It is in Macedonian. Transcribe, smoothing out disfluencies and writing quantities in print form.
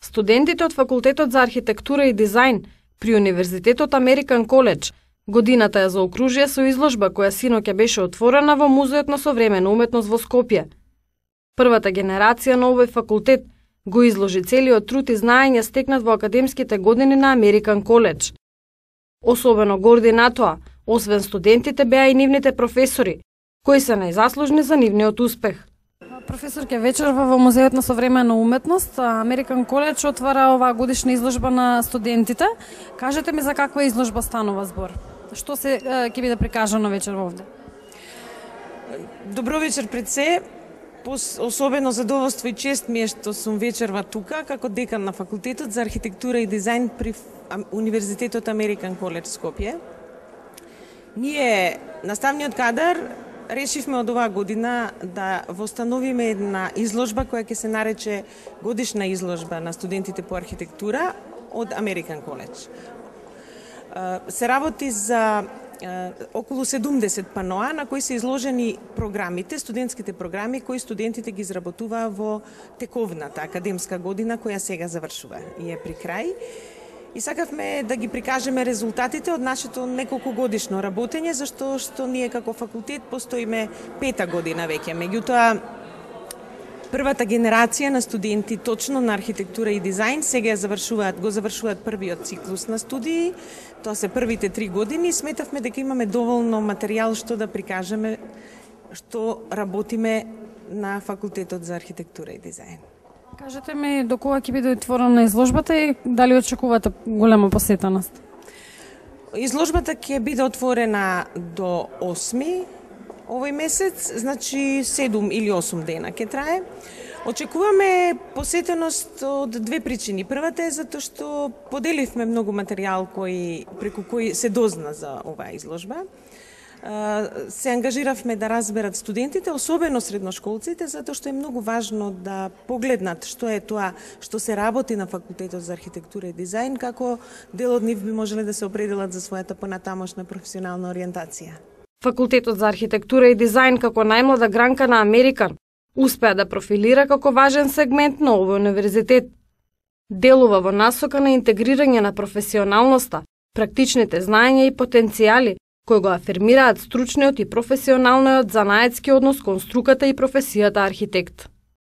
Студентите од Факултетот за архитектура и дизајн при Универзитетот Американ Коледж годината ја заокружија со изложба која синоќа беше отворена во Музеот на современа уметност во Скопје. Првата генерација на овој факултет го изложи целиот труд и знаење стекнат во академските години на Американ Коледж. Особено горди на тоа, освен студентите, беа и нивните професори, кои се најзаслужни за нивниот успех. Професорке, вечерва во Музеот на современа уметност, Американ Коледж отвара оваа годишна изложба на студентите. Кажете ми за каква изложба станува збор? Што се ќе биде прикажано вечерва овде? Добро вечер пред се. Особено задоволство и чест ми е што сум вечерва тука како декан на Факултетот за архитектура и дизајн при Универзитетот Американ Коледж Скопје. Ние, наставниот кадар, решивме од оваа година да востановиме една изложба која ќе се нарече годишна изложба на студентите по архитектура од Американ Коледж. Се работи за околу 70 паноа на кои се изложени програмите, студентските програми кои студентите ги изработуваа во тековната академска година која сега завршува и е при крај. И сакавме да ги прикажеме резултатите од нашето неколку годишно работење, зашто што ние како факултет постоиме 5-та година веќе. Меѓутоа, првата генерација на студенти точно на архитектура и дизајн сега го завршуваат првиот циклус на студии. Тоа се првите 3 години и сметавме дека имаме доволно материјал што да прикажеме што работиме на Факултетот за архитектура и дизајн. Кажете ми до кога ќе биде отворена изложбата и дали очекувате голема посетеност? Изложбата ќе биде отворена до 8 овој месец, значи 7 или 8 дена ќе трае. Очекуваме посетеност од две причини. Првата е затоа што поделивме многу материјал преку кој се дозна за оваа изложба. Се ангажиравме да разберат студентите, особено средношколците, затоа што е многу важно да погледнат што е тоа што се работи на Факултетот за архитектура и дизајн, како дел од нив би можеле да се определат за својата понатамошна професионална ориентација. Факултетот за архитектура и дизајн како најмлада гранка на Американ успеа да профилира како важен сегмент на овој универзитет. Делува во насока на интегрирање на професионалноста, практичните знаења и потенцијали кои го афирмираат стручниот и професионалниот занаетски однос кон струката и професијата архитект.